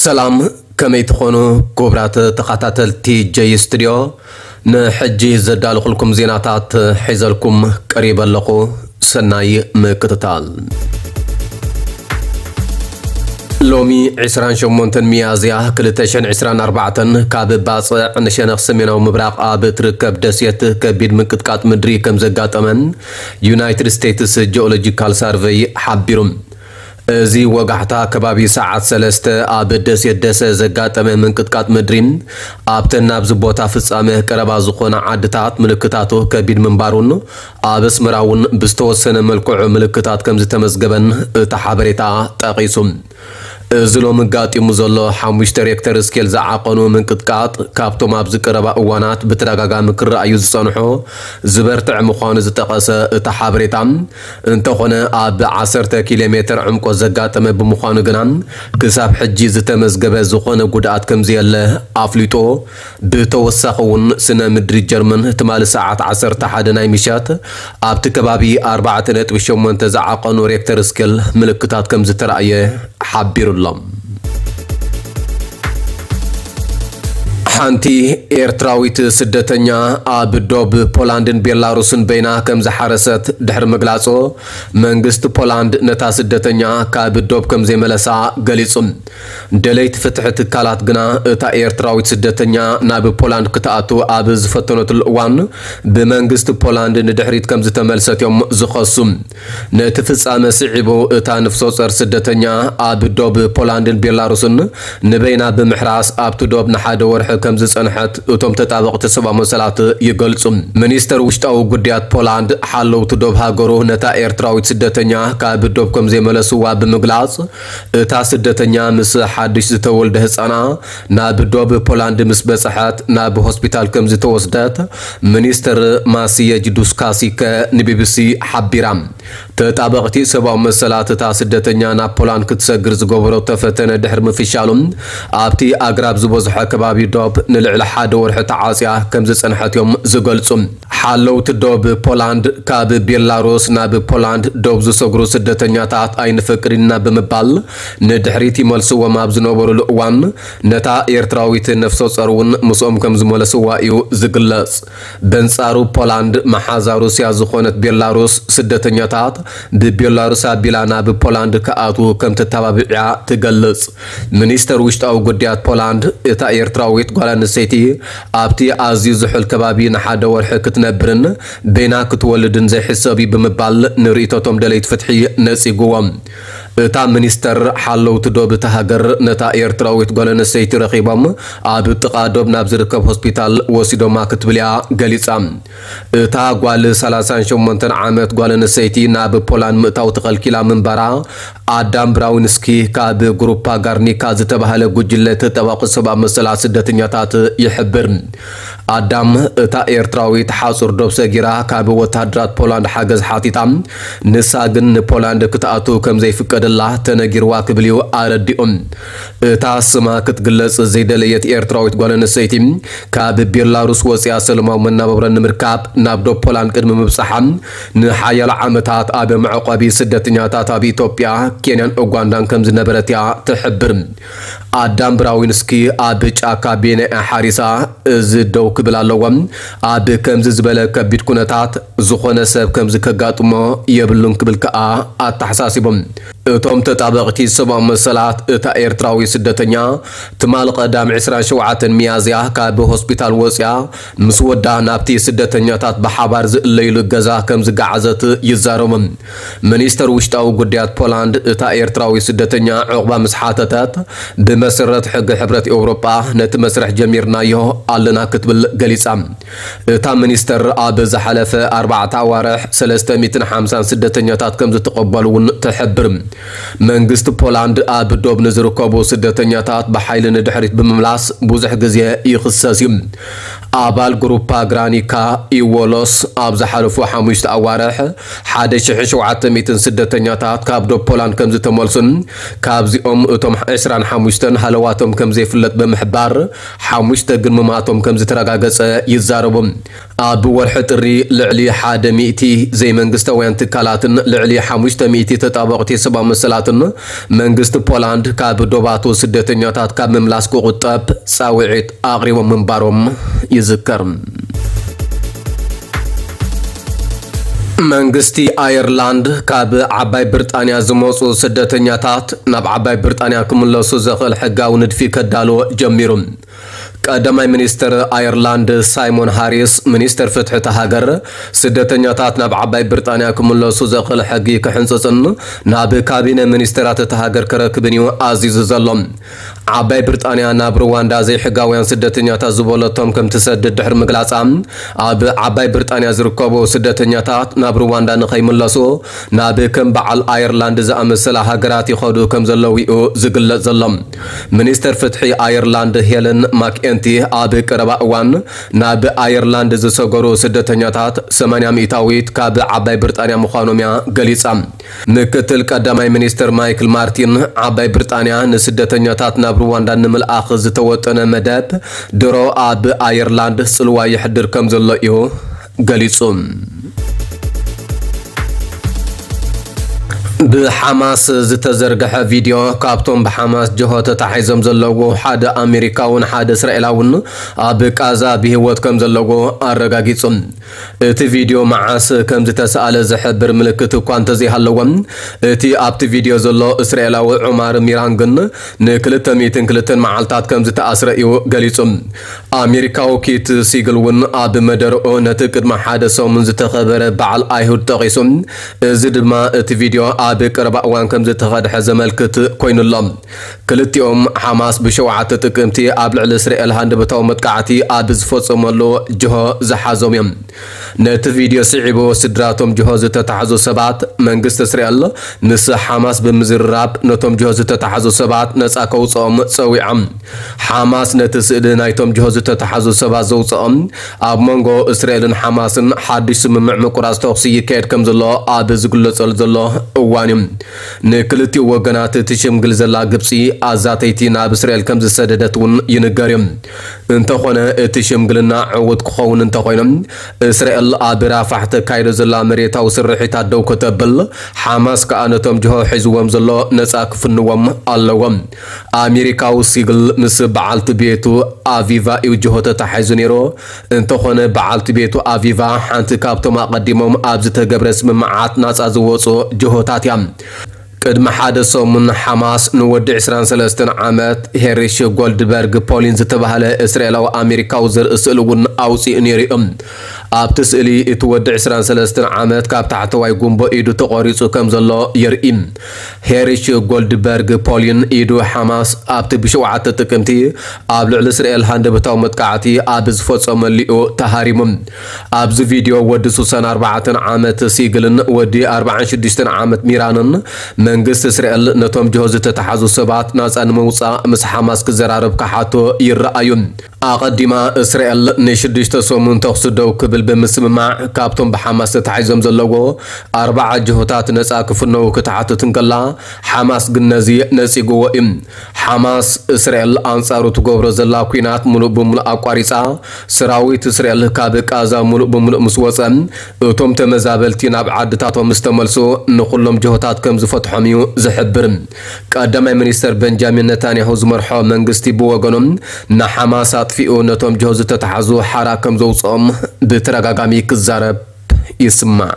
ሰላም፣ ከመይ ትኾኑ ክቡራት ተኸታተልቲ ጀይ ስቱድዮ? ንሕጂ ዘዳለኹልኩም ዜናታት ሒዘልኩም ቀሪበ ኣለኹ። ሰናይ ምክትታል። ሎሚ ዕስራን ሸሞንተን ሚያዝያ ክልተ ሽሕን ዕስራን ኣርባዕተን ካብ ባጽዕ ንሸነኽ ሰሜናዊ ምብራቕ ኣብ እትርከብ ደሴት ከቢድ ምንቅጥቃጥ ምድሪ ከም ዘጋጠመን ዩናይትድ ስቴትስ ጂኦሎጂካል ሳርቨይ ሓቢሩ። እዚ ወጋሕታ ከባቢ ሰዓት ሰለስተ ኣብ ደሴት ደሰ ዘጋጠመ ምንቅጥቃጥ ምድሪ፣ ኣብተን ናብዚ ቦታ ፍጻመ ቀረባ ዝኾና ዓድታት ምልክታቱ ከቢድ ምንባሩን፣ ኣብ ኣስመራ እውን ብዝተወሰነ መልክዑ ምልክታት ከም ዝተመዝገበን እቲ ሓበሬታ ጠቒሱ። እዚ ሎሚ ኣጋጢሙ ዘሎ ሓሙሽተ ሬክተር ስኬል ዝዓቐኑ ምንቅጥቃጥ፣ ካብቶም ኣብዚ ቀረባ እዋናት ብተደጋጋሚ ክረኣዩ ዝጸንሑ ዝበርትዕ ምዃኑ ዝጠቐሰ እቲ ሓበሬታ፣ እንተኾነ ኣብ ዓሰርተ ኪሎ ሜትር ዕምቆት ዘጋጠመ ብምዃኑ ግና፣ ክሳብ ሕጂ ዝተመዝገበ ዝኾነ ጉድኣት ከምዘየለ ኣፍሊጡ። ብተወሳኺ እውን፣ ስነ ምድሪ ጀርመን ትማሊ ሰዓት ዓሰርተ ሓደ ናይ ምሸት ኣብቲ ከባቢ ኣርባዕተ ነጥቢ ሸሞንተ ዝዓቐኑ ሬክተር ስኬል ምልክታት ከም ዝተራእየ ሓቢሩ ኣሎ። ሓንቲ ኤርትራዊት ስደተኛ ኣብ ዶብ ፖላንድን ቤላሩስን በይና ከም ዝሓረሰት ድሕሪ ምግላጹ፣ መንግስቲ ፖላንድ ነታ ስደተኛ ካብ ዶብ ከም ዘይመለሳ ገሊጹ። ደለይቲ ፍትሒ ትካላት ግና፣ እታ ኤርትራዊት ስደተኛ ናብ ፖላንድ ክትኣቱ ኣብ ዝፈተነትሉ እዋን፣ ብመንግስቲ ፖላንድ ንድሕሪት ከም ዝተመልሰት እዮም ዝኸሱ። ነቲ ፍጻመ ስዒቡ፣ እታ ነፍሰ ጾር ስደተኛ ኣብ ዶብ ፖላንድን ቤላሩስን ንበይና ብምሕራስ ኣብቲ ዶብ ንሓደ ወርሒ ከም ዝጸንሐት እቶም ተጣበቕቲ ሰብኣዊ መሰላት ይገልጹ። ሚኒስተር ውሽጣዊ ጉዳያት ፖላንድ፣ ሓለውቲ ዶብ ሃገሩ ነታ ኤርትራዊት ስደተኛ ካብ ዶብ ከም ዘይመለስዋ ብምግላጽ፣ እታ ስደተኛ ምስ ሓድሽ ዝተወልደ ህጻና ናብ ዶብ ፖላንድ ምስ በጽሐት ናብ ሆስፒታል ከም ዝተወስደት ሚኒስተር ማስየጅ ዱስካሲከ ንቢቢሲ ሓቢራ። ተጣበቕቲ ሰብኣዊ መሰላት፣ እታ ስደተኛ ናብ ፖላንድ ክትሰግር ዝገበረቶ ፈተነ ድሕሪ ምፍሻሉ፣ ኣብቲ ኣግራብ ዝበዝሖ ከባቢ ዶብ ንልዕሊ ሓደ ወርሒ ተዓጽያ ከም ዝጸንሐት እዮም ዝገልጹ። ሓለውቲ ዶብ ፖላንድ፣ ካብ ቤላሩስ ናብ ፖላንድ ዶብ ዝሰግሩ ስደተኛታት ኣይንፈቅድን ኢና ብምባል ንድሕሪት ይመልስዎም ኣብ ዝነበሩሉ እዋን፣ ነታ ኤርትራዊት ነፍሰ ጾር እውን ምስኦም ከም ዝመለስዋ እዩ ዝግለጽ። በንጻሩ፣ ፖላንድ መሓዛ ሩስያ ዝኾነት ቤላሩስ፣ ስደተኛታት ብቤላሩስ ኣቢላ ናብ ፖላንድ ክኣትዉ ከም ተተባብዕያ ትገልጽ። ሚኒስተር ውሽጣዊ ጉዳያት ፖላንድ፣ እታ ኤርትራዊት ጓል ኣንስተይቲ ኣብቲ ኣዝዩ ዝሑል ከባቢ ንሓደ ወርሒ ክትነብርን በይና ክትወልድን ዘይሕሰብ እዩ ብምባል ንርእይቶቶም ደለይቲ ፍትሒ ነጺግዎም። እታ ሚኒስተር፣ ሓለውቲ ዶብ እታ ሃገር ነታ ኤርትራዊት ጓል ኣንስተይቲ ረኺቦም ኣብ ጥቓ ዶብ ናብ ዝርከብ ሆስፒታል ወሲዶማ ክትብል እያ ገሊጻ። እታ ጓል ሰላሳን ሸሞንተን ዓመት ጓል ኣንስተይቲ ናብ ፖላንድ ምእታው ተኸልኪላ ምንባራ ኣዳም ብራዊንስኪ ካብ ግሩፓ ጋርኒካ ዝተባህለ ጉጅለ ተጣባቒ ሰብኣዊ መሰላት ስደተኛታት ይሕብር። ኣዳም፣ እታ ኤርትራዊት ሓጹር ዶብ ሰጊራ ካብ ወተሃደራት ፖላንድ ሓገዝ ሓቲታ፣ ንሳ ግን ንፖላንድ ክትኣቱ ከም ዘይፍቀደላ ተነጊርዋ ክብል እዩ ኣረዲኡ። እታ ስማ ክትግለጽ ዘይደለየት ኤርትራዊት ጓል ኣንስተይቲ፣ ካብ ቤላሩስ ወጺኣ ሰላማዊ መናባብሮ ንምርካብ ናብ ዶብ ፖላንድ ቅድሚ ምብጻሓ፣ ንሓያሎ ዓመታት ኣብ መዕቆቢ ስደተኛታት ኣብ ኢትዮጵያ፣ ኬንያን ኡጋንዳን ከም ዝነበረት እያ ትሕብር። ኣዳም ብራዊንስኪ ኣብ ጫካ ቤነ እያ ሓሪሳ፣ እዚ ደው ክብል ኣለዎ። ኣብ ከምዚ ዝበለ ከቢድ ኩነታት፣ ዝኾነ ሰብ ከምዚ ከጋጥሞ የብሉን ክብል ከኣ ኣተሓሳሲቡ። እቶም ተጣበቕቲ ሰብኣዊ መሰላት፣ እታ ኤርትራዊ ስደተኛ ትማሊ ቀዳም ዕስራን ሸውዓተን ሚያዝያ ካብ ሆስፒታል ወጽያ፣ ምስ ወዳ ናብቲ ስደተኛታት ብሓባር ዝእለይሉ ገዛ ከም ዝገዓዘት ይዛረቡ። ሚኒስተር ውሽጣዊ ጉዳያት ፖላንድ፣ እታ ኤርትራዊ ስደተኛ ዕቑባ ምስ ሓተተት፣ ብመሰረት ሕጊ ሕብረት ኤውሮጳ ነቲ መስርሕ ጀሚርናዮ ኣለና ክትብል ገሊጻ። እታ ሚኒስተር፣ ኣብ ዝሓለፈ ኣርባዕተ ኣዋርሕ ሰለስተ ሚእትን ሓምሳን ስደተኛታት ከም ዝተቐበሉ እውን ትሕብር። መንግስቲ ፖላንድ ኣብ ዶብ ንዝርከቡ ስደተኛታት ብሓይሊ ንድሕሪት ብምምላስ ብዙሕ ግዜ ይኽሰስ እዩ። ኣባል ግሩፓ ግራኒካ ኢዎሎስ፣ ኣብ ዝሓለፉ ሓሙሽተ ኣዋርሕ ሓደ ሽሕን ሸውዓተ ሚእትን ስደተኛታት ካብ ዶብ ፖላንድ ከም ዝተመልሱን፣ ካብዚኦም እቶም ዕስራን ሓሙሽተን ሃለዋቶም ከም ዘይፍለጥ ብምሕባር፣ ሓሙሽተ ግን ምማቶም ከም ዝተረጋገጸ ይዛረቡ። ኣብ ወርሒ ጥሪ ልዕሊ ሓደ ሚእቲ ዘይመንግስታውያን ትካላትን ልዕሊ ሓሙሽተ ሚእቲ ተጣበቕቲ ሰብኣዊ መሰላትን መንግስቲ ፖላንድ ካብ ዶባቱ ስደተኛታት ካብ ምምላስ ክቑጠብ ጻውዒት ኣቕሪቦም ምንባሮም ይዝከር። መንግስቲ ኣየርላንድ ካብ ዓባይ ብሪጣንያ ዝመጹ ስደተኛታት ናብ ዓባይ ብሪጣንያ ክምለሱ ዘኽእል ሕጋዊ ንድፊ ከዳሎ ጀሚሩ። ቀዳማይ ሚኒስትር ኣየርላንድ ሳይሞን ሃሪስ፣ ሚኒስትር ፍትሒ እታ ሃገር፣ ስደተኛታት ናብ ዓባይ ብሪጣንያ ክምለሱ ዘኽእል ሕጊ ክሕንጽጽን ናብ ካቢነ ሚኒስትራት እታ ሃገር ክረክብን እዩ ኣዚዙ ዘሎ። ዓባይ ብሪጣንያ ናብ ሩዋንዳ ዘይሕጋውያን ስደተኛታት ዝበለቶም ከም ትሰድድ ድሕሪ ምግላጻ፣ ኣብ ዓባይ ብሪጣንያ ዝርከቡ ስደተኛታት ናብ ሩዋንዳ ንኸይምለሱ ናብ ከም በዓል ኣየርላንድ ዝኣመሰላ ሃገራት ይኸዱ ከም ዘለዉ እዩ ዝግለጽ ዘሎ። ሚኒስተር ፍትሒ ኣየርላንድ ሄለን ማክኤንቲ ኣብ ቀረባ እዋን ናብ ኣየርላንድ ዝሰገሩ ስደተኛታት ሰማንያ ሚእታዊት ካብ ዓባይ ብሪጣንያ ምዃኖም እያ ገሊጻ። ምክትል ቀዳማይ ሚኒስትር ማይክል ማርቲን፣ ዓባይ ብሪጣንያ ንስደተኛታት ናብ ሩዋንዳ ንምልኣኽ ዝተወጠነ መደብ ድሮ ኣብ ኣየርላንድ ጽልዋ የሕድር ከም ዘሎ እዩ ገሊጹ። ብሓማስ ዝተዘርግሐ ቪድዮ ካብቶም ብሓማስ ጅሆ ተታሒዞም ዘለዉ ሓደ ኣሜሪካውን ሓደ እስራኤላውን ኣብ ቃዛ ብህይወት ከም ዘለዉ ኣረጋጊጹ። እቲ ቪድዮ መዓስ ከም ዝተሰኣለ ዝሕብር ምልክት እኳ እንተዘይሃለዎ፣ እቲ ኣብቲ ቪድዮ ዘሎ እስራኤላዊ ዑማር ሚራን ግን ንክልተ ሚእትን ክልተን መዓልታት ከም ዝተኣስረ እዩ ገሊጹ። ኣሜሪካዊ ኪት ሲግል እውን ኣብ መደርኡ ነቲ ቅድሚ ሓደ ሰሙን ዝተኸበረ በዓል ኣይሁድ ጠቒሱ፣ እዚ ድማ እቲ ቪድዮ ኣብ ቀረባ እዋን ከም ዝተኸድሐ ዘመልክት ኮይኑ ኣሎ። ክልቲኦም ሓማስ ብሸውዓተ ጥቅምቲ ኣብ ልዕሊ እስራኤል ሃንደበታዊ መጥቃዕቲ ኣብ ዝፈጸመሉ ጅሆ ዝሓዞም እዮም። ነቲ ቪድዮ ስዒቡ ስድራቶም ጅሆ ዝተታሕዙ ሰባት መንግስቲ እስራኤል ምስ ሓማስ ብምዝርራብ ነቶም ጅሆ ዝተታሕዙ ሰባት ነጻ ከውጽኦም ጸዊዖም። ሓማስ ነቲ ስእሊ ናይቶም ጅሆ ዝተታሕዙ ሰባት ዘውጽኦም ኣብ መንጎ እስራኤልን ሓማስን ሓድሽ ስምምዕ ምቁራጽ ተኹሲ ይካየድ ከም ዘሎ ኣብ ዝግለጸሉ ዘሎ እዋን እዩ። ንክልቲኡ ወገናት እቲ ሽምግል ዘላ ግብጺ ኣዛተይቲ ናብ እስራኤል ከም ዝሰደደት እውን ይንገር እዩ። እንተኾነ እቲ ሽምግልና ዕዉት ክኸውን እንተኾይኑ እስራኤል ኣብ ራፋሕ ተካይዶ ዘላ መሬታዊ ስርሒታት ደው ከተብል፣ ሓማስ ከኣ ነቶም ጅሆ ሒዝዎም ዘሎ ነጻ ክፍንዎም ኣለዎም። ኣሜሪካዊ ሲግል ምስ በዓልቲ ቤቱ ኣቪቫ እዩ ጅሆ ተታሒዙ ነይሩ። እንተኾነ በዓልቲ ቤቱ ኣቪቫ ሓንቲ ካብቶም ኣቐዲሞም ኣብ ዝተገብረ ስምምዓት ናጻ ዝወጹ ጅሆታት እያ። ቅድሚ ሓደ ሰሙን ሓማስ ንወዲ ዕስራን ሰለስተን ዓመት ሄሪሽ ጎልድበርግ ፖሊን ዝተባህለ እስራኤላዊ ኣሜሪካዊ ዘርኢ ስእሊ እውን ኣውጺኡ ነይሩ እዩ። ኣብቲ ስእሊ እቲ ወዲ ዕስራን ሰለስተን ዓመት ካብ ታሕተዋይ ጉንቦ ኢዱ ተቖሪጹ ከም ዘሎ የርኢ። ሄሪሽ ጎልድበርግ ፖሊን ኢዱ ሓማስ ኣብቲ ብሸውዓተ ጥቅምቲ ኣብ ልዕሊ እስራኤል ሃንደበታዊ መጥቃዕቲ ኣብ ዝፈጸመሉ እዩ ተሃሪሙ። ኣብዚ ቪድዮ ወዲ ሱሳን ኣርባዕተን ዓመት ሲግልን ወዲ ኣርባዓን ሽዱሽተን ዓመት ሚራንን መንግስቲ እስራኤል ነቶም ጅሆ ዝተታሓዙ ሰባት ናጻ ንምውጻእ ምስ ሓማስ ክዘራረብ ክሓቶ ይረኣዩ። ኣቐዲማ እስራኤል ንሽዱሽተ ሰሙን ተኹሲ ደው ክብል ብምስምማዕ ካብቶም ብሓማስ ተታሒዞም ዘለዎ ኣርባዓ ጅሆታት ነጻ ክፍነዉ ክትሓትት እንከላ፣ ሓማስ ግን ነዚ ነጺግዎ እዩ። ሓማስ እስራኤል ኣንጻሩ ትገብሮ ዘላ ኲናት ምሉእ ብምሉእ ኣቋሪጻ፣ ሰራዊት እስራኤል ካብ ቃዛ ምሉእ ብምሉእ ምስ ወጸ፣ እቶም ተመዛበልቲ ናብ ዓድታቶም ምስ ተመልሱ ንኹሎም ጅሆታት ከም ዝፈትሖም እዩ ዝሕብር። ቀዳማይ ሚኒስተር በንጃሚን ነታንያሁ ዝመርሖ መንግስቲ ብወገኑ ንሓማስ ኣጥፊኡ ነቶም ጅሆ ዝተታሓዙ ሓራ ከም ዘውፅኦም ብተደጋጋሚ ክዛረብ ይስማዕ።